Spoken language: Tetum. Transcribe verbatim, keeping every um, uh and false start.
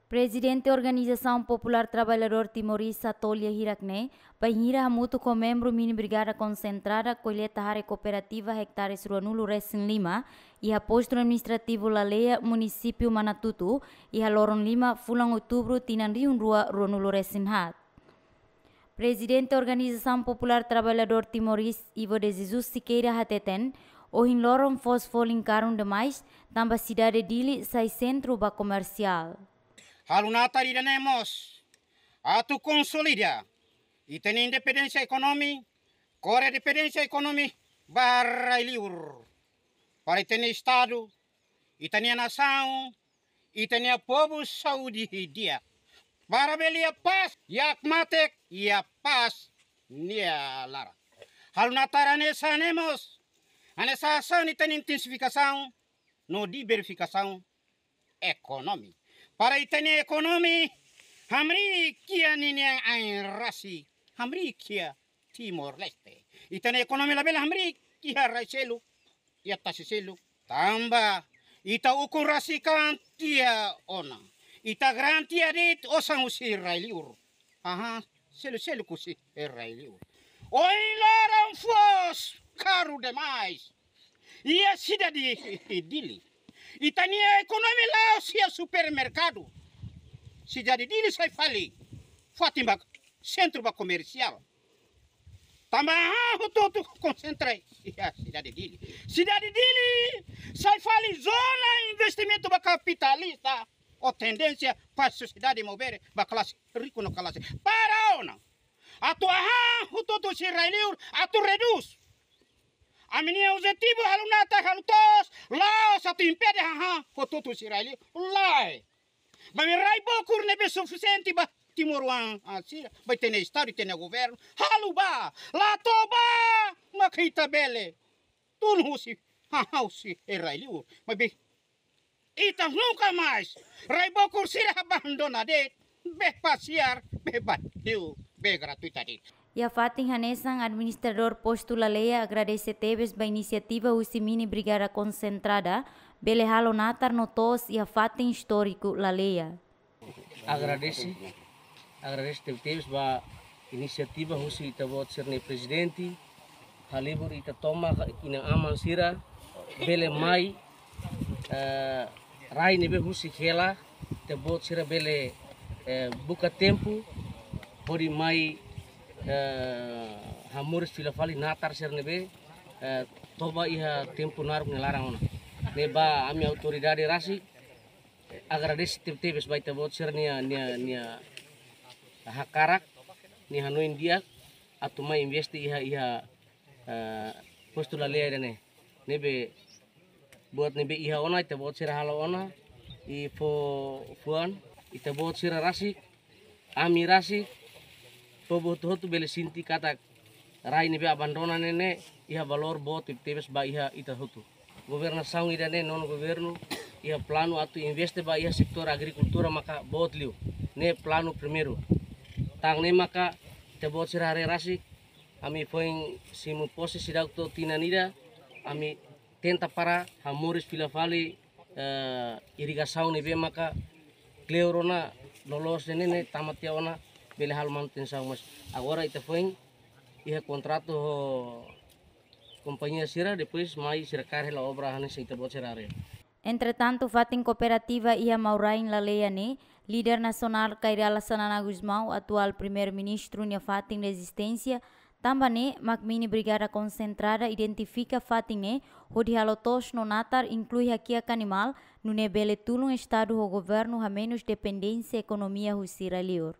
Prezidente Organizasaun Populár Traballadór Timor-Leste, Satolia, hirak ne'e, bainhira hamutuk ho membru Mini Brigada Konsentrada, kolleta hare kooperativa ektares ruanulu-resin-lima, iha Postu Administrativu Laleia, Munisípiu Manatutu, iha loron lima fulan Outubru tinan rihun rua ruanulu-resin-haat. Prezidente Organizasaun Populár Traballadór Timor-Leste, Ivo de Jesus Siqueira, hateten, ohin loron foos folin karun demais, tanba sidade Dili sai sentru ba komersiál. Halo natar ida-ne'e mós atu konsolida ita-nia independénsia ekonomi, kore independénsia ekonomi ba rai-liur. Para ita-nia Estadu, ita-nia nasaun, ita-nia povu saúde di'ak. Para bele iha pás, iha matenek, iha pás nia laran. Halo natar hanesan ne'e mós, hanesan hanesan ita-nia intensifikasaun no diversifikasaun ekonomi. Para ita-nia ekonomi hamriik iha ninia ain rasik, hamriik iha Timor-Leste. Ita-nia ekonomi labele hamriik iha rai seluk, iha tasi seluk. Tanba ita ukun rasik an tiha ona. Ita grant tiha de'it osan husi rai-liur. Aha, selu-selu husi rai-liur. Ohin loron foos karun demais iha sidade Dili. Ita-nia ekonomi la'ós iha supermerkadu. Sidade Dili sai fali fatin ba sentru ba komersiál. Tanba hotu-hotu konsentra iha sidade Dili. Sidade Dili sai fali zona investimentu ba kapitalista. Ou tendénsia para sosiedade mover ba klase riku no klase. Para ona. Atu hahán hotu-hotu husi rai-liur, atu redús. Ami-nia objetivu halo natar, halo toos, la'ós atu impede hahán hotu-hotu husi rai-liur. Lae. Maibé rai bokur ne'ebé sufisiente ba timoroan, ah, sira, ba ita-nia Estadu, ita-nia governu. Halo ba, la to'o ba, maka ita bele tulun husi hahán husi rai-liur. Maibé ita nunka mais. Rai bokur sira abandona de'it, bee pasiar, bee badiu, bee gratuita de'it. Iha fatin hanesan, administradór Postu Laleia agradese tebes ba inisiativa husi Mini Brigada Konsentrada, bele halo natar no toos iha fatin istóriku Laleia. Agradese, agradese tebetebes ba inisiativa husi ita-boot sira-nia prezidente, halibur ita tomak inan-aman sira bele mai, eh, rai ne'ebé husik hela, ita-boot sira bele, eh, buka tempu hodi mai, eh, hamoris fila fali natar sira ne'ebé, eh, toba iha tempu naruk nia laran ona. Ne'ebá ami autoridade rasik agradese tebetebes ba ita-boot sira-nia, nia, nia hakarak, nia hanoin di'ak atu mai investe iha, iha, eh, Postu Laleia ida-ne'e. Ne'ebé buat ne'ebé iha ona, ita-boot sira halo ona, i fó fuan, ita-boot sira rasik, ami rasik, povu hotu-hotu bele sente katak rai ne'ebé abandona ne'e ne'e iha valór boot tebes ba iha ita hotu. Governasaun ida-ne'e, nonu governu, iha planu atu investe ba iha setór agrikultura maka boot liu. Ne'e planu primeiru. Tan ne'e maka ita-boot sira haree rasik, ami foin simu pose seidauk to'o tinan ida, ami tenta para hamoris fila fali, eh, irrigasaun ne'ebé maka kleur ona loloos ne'e ne'e tama tiha ona bele halo manutensaun, mas agora ita foin iha kontratu ho kompañia sira, depois mai sira kaer hela obra hanesan ita-boot sira haree. Entretantu, fatin kooperativa iha Maurain Laleia ne'e, líder nasionál Kay Rala Xanana Gusmão, atuál Primeiru-Ministru nia fatin rezisténsia, tanba ne'e mak Mini Brigada Konsentrada identifika fatin ne'e hodi halo toos no natar, inklui hakiak animál, nune'e bele tulun Estadu ho governu hamenus dependénsia ekonomia husi rai-liur.